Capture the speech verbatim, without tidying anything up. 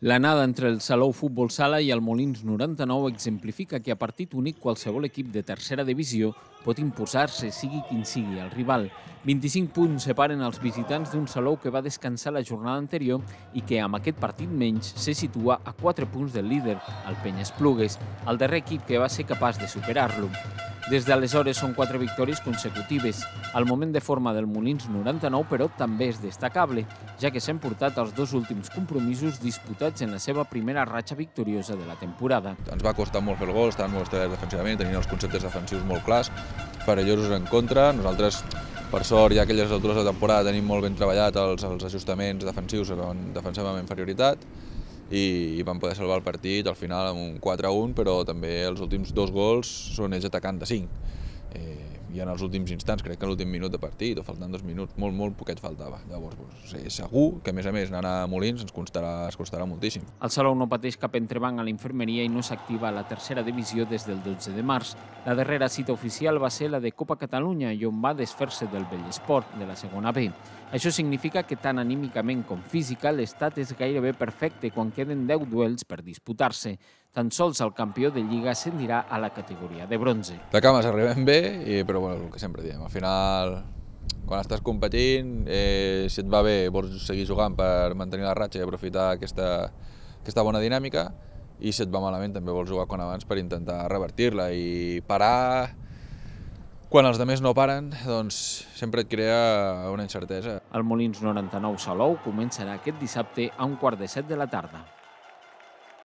L'anada entre el Salou Futbol Sala i el Molins noranta-nou exemplifica que a partit únic qualsevol equip de tercera divisió pot imposar-se, sigui quin sigui el rival. vint-i-cinc punts separen els visitants d'un Salou que va descansar la jornada anterior i que amb aquest partit menys se situa a quatre punts del líder, el Penyes-Plugues, el darrer equip que va ser capaç de superar-lo. Des d'aleshores són quatre victòries consecutives. El moment de forma del Molins noranta-nou, però, també és destacable, ja que s'han portat els dos últims compromisos disputats en la seva primera ratxa victoriosa de la temporada. Ens va costar molt fer el gol, estaven molt establerts defensivament, tenien els conceptes defensius molt clars, perillosos en contra. Nosaltres, per sort, ja a aquelles altures de la temporada tenim molt ben treballat els, els ajustaments defensius on defensàvem amb inferioritat i, i vam poder salvar el partit al final amb un quatre a un, però també els últims dos gols són ells atacant de cinc. Eh, I en els últims instants, crec que en l'últim minut de partit, o faltant dos minuts, molt, molt poquet faltava. Llavors, doncs, eh, segur que, a més a més, anar a Molins ens costarà, ens costarà moltíssim. El Salou no pateix cap entrebanc a la infermeria i no s'activa a la tercera divisió des del dotze de març. La darrera cita oficial va ser la de Copa Catalunya i on va desfer-se del vell esport, de la segona B. Això significa que tant anímicament com física l'estat és gairebé perfecte quan queden deu duels per disputar-se. Tan sols el campió de Lliga ascendirà a la categoria de bronze. De cames arribem bé, i, però bueno, el que sempre diem, al final, quan estàs competint, eh, si et va bé vols seguir jugant per mantenir la ratxa i aprofitar aquesta, aquesta bona dinàmica, i si et va malament també vols jugar quan abans per intentar revertir-la i parar. Quan els altres no paren, doncs sempre et crea una incertesa. El Molins noranta-nou Salou començarà aquest dissabte a un quart de set de la tarda.